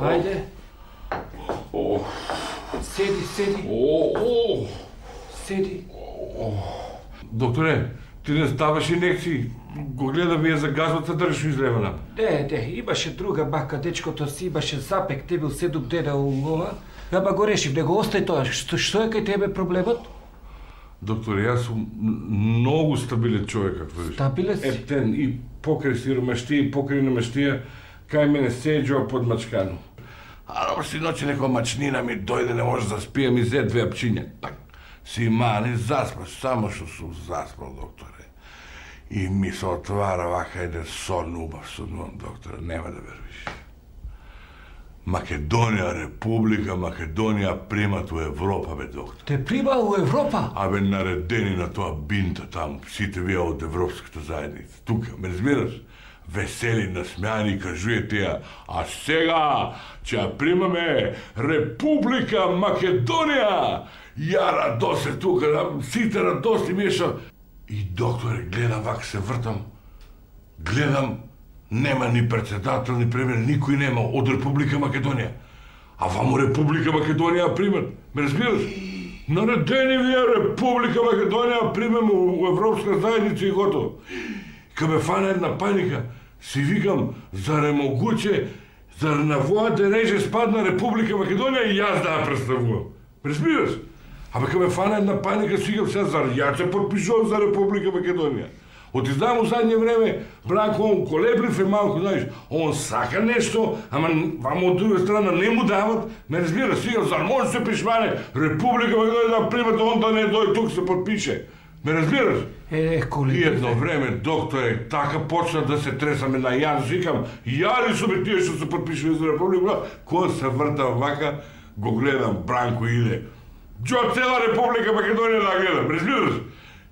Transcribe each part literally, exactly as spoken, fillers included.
Ајде. Седи, седи. Седи. Докторе, ти не ставаш инекции. Го гледам, вие загазот се држиш излевана. Не, не, имаше друга бака, дечкото си имаше запек, те бил седум дена у ова. Ама го решив, не го остај тоа. Што, што е кај тебе проблемот? Докторе, јас сум многу стабилен човек, како видиш. Стабилен си? Ептен и покрај сиромаштија и покрај намаштија, кај мене седжува под мачкано. А добро си ноќе некоја мачнина ми дојде, не може да спија, ми зе две апчиња. Так, си мани, заспаш, само што сум заспал, докторе. И ми се отвара вака еден сон убав, сон, докторе, нема да вервиш. Македонија, Република Македонија примат у Европа, бе, доктор. Те прима у Европа? Абе, наредени на тоа бинта таму, сите вие од Европската заедница. Тука, ме разбираш? Весели, насмеани, кажуете ја, а сега ќе ја примаме Република Македонија. Ја радосе тука, сите радости меша. И, докторе, гледам вака се вртам, гледам, нема ни председател, ни премиер, никој нема од Република Македонија. А ваму Република Македонија примат, ме разбираш? Наредени вие Република Македонија примем у Европска заедница и готово. Ка ме фана една паника, си викам, зар е могуче, зар на војата реже спадна Република Македонија и јас да ја представувам. Ме разбираш? Абе, ка ме фана една паника, си викам сега, зар ја се подпишувам за Република Македонија. Оти знам у задње време, Бранко, он колеблив е малко, знаеш, он сака нешто, ама вамо од друга страна не му дават, ме разбира, сега, зар може се пишмане Република Македонија да примат, он да не дојде тук се подпише. Ме разбираш? Е, коли... И едно време, докторе, така почна да се тресаме на јас, викам, ја ли су бе тие што се подпишува за Република, кога се вртам вака, го гледам, Бранко иде. Джо цела Република Македонија да гледам, разбираш?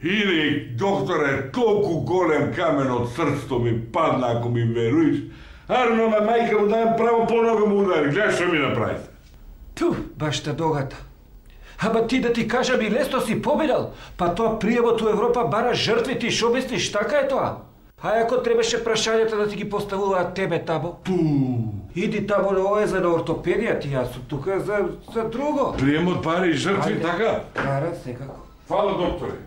Иде, докторе, толку голем камен од срцето ми падна, ако ми веруиш. Арно, ме мајка му даjem право по нога му удари, гледај што ми направи. Ту, баш та догата. Ама ти да ти кажам и лесно си победал, па тоа пријавот у Европа бара жртви, ти шо мислиш, така е тоа? А ако требаше прашањата да ти ги поставуваат тебе тамо? Пу. Иди тамо на ова за на ортопедија, ти јас сум тука за, за друго. Приемот пари и жртви, така? Кара, секако. Фала, докторе.